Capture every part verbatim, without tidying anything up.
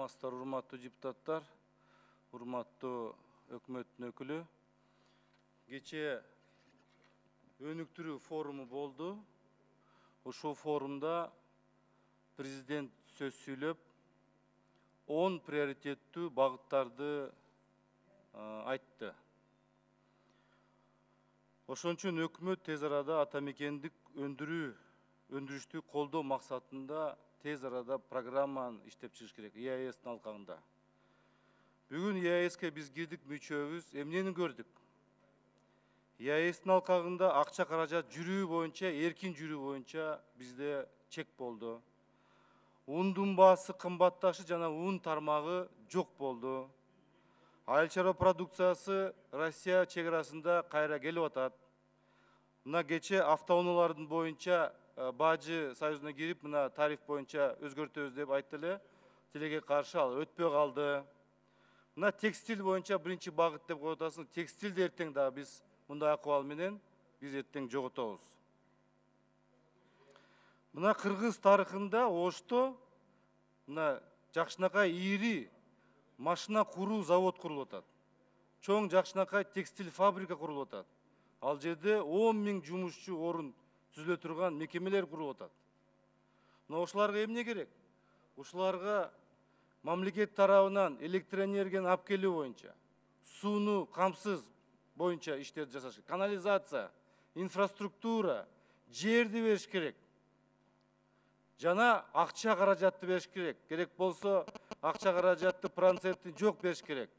саламатсыздар, урматтуу депутаттар, урматтуу өкмөттүн өкүлү. Кечээ өнүктүрүү форуму болду. Ошол форумда президент сөз сүйлөп, он приоритеттүү багыттарды айтты. Ошон үчүн өкмөт тез арада ата мекендик өндүрүү өндүрүштү колдоо максатында тез арада программаны иштеп чыгыш керек и а эстин алкагында. Бүгүн и а эске биз кирдик, мүчөбүз, эмнени көрдүк? и а эстин алкагында акча каражат жүрүү боюнча, эркин жүрүү боюнча бизде чек болду. Ундун баасы кымбатташы жана ун тармагы жок болду. Айыл чарба продукциясы Россия чек арасында кайра келип атат. Мына кечээ автоунаалардын боюнча Бажы союзуна кирип, мына тариф боюнча өзгөртөбүз деп айтты эле. Тилекке каршы ал өтпөй калды. Мына текстиль боюнча биринчи багыт деп коюп атасың. Текстилди эртең дагы биз мындай акыбал менен биз эртең жоготобуз. Мына Кыргыз тарыхында Ошто мына жакшынакай ири машина куруу завод курулуп атат. Чоң жакшынакай текстиль фабрика курулуп атат. Ал жерде он миң жумушчу орун түзүлө турган мекемелер курулуп атат. Мына ошоларга эмне керек? Ушуларга мамлекет тарабынан электроэнергияны алып келүү боюнча, сууну камсыз боюнча иштерди жасаш керек. Канализация, инфраструктура, жерди бериш керек. Жана акча каражатты бериш керек. Керек болсо акча каражатты процентин жок бериш керек.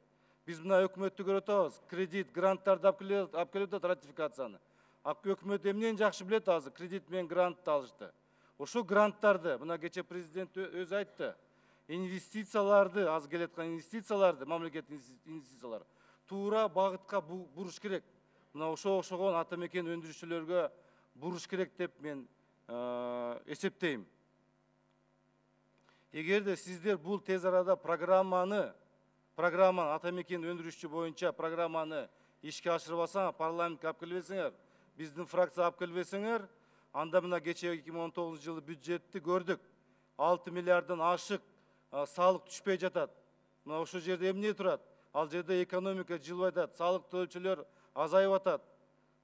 Биз мына өкмөттү көрүп атабыз. Кредит, гранттарды алып келип атат, ратификацияны. Өкмөт эмнени жакшы билет азыр? Кредит менен грантты алышты. Ошо гранттарды, мына кечээ президент өзү айтты. Инвестицияларды, азыр келаткан инвестицияларды, мамлекет инвестициялары туура багытка буруш керек. Мына ошо окшогон ата мекен өндүрүшчүлөргө буруш керек деп мен эсептейм. Эгерде сиздер бул тез арада программаны, программаны ата мекен өндүрүшчү боюнча программаны ишке ашырбасаң, парламентке алып келбесеңер, биздин фракция алып келбесеңер, анда мына кечээ эки миң он тогузунчу жылы бюджетти көрдүк. алты миллиарддан ашык салык түшпөй жатат. Мына ошол жерде эмне турат? Ал жерде экономика жылбай атат, салык төлөөчүлөр азайып атат.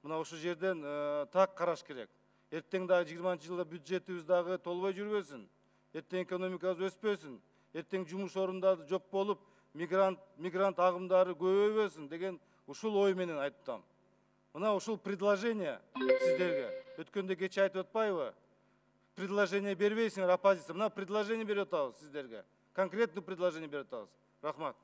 Мына ошол жерден так караш керек. Эртең дагы жыйырманчы жылда бюджетибиз дагы толбой жүрбөсүн. Эртең экономикабыз өспөсүн. Эртең жумуш орундары жок болуп, мигрант мигрант агымдары көбөйбөсүн деген ушул ой менен айттым. Мына ушул предложение сиздерге. Өткөндө кечээ айтып атпайбы? Предложение бербейсиңер, оппозиция. Мына предложение берип атабыз сиздерге. Конкретный предложение берип атабыз. Рахмат.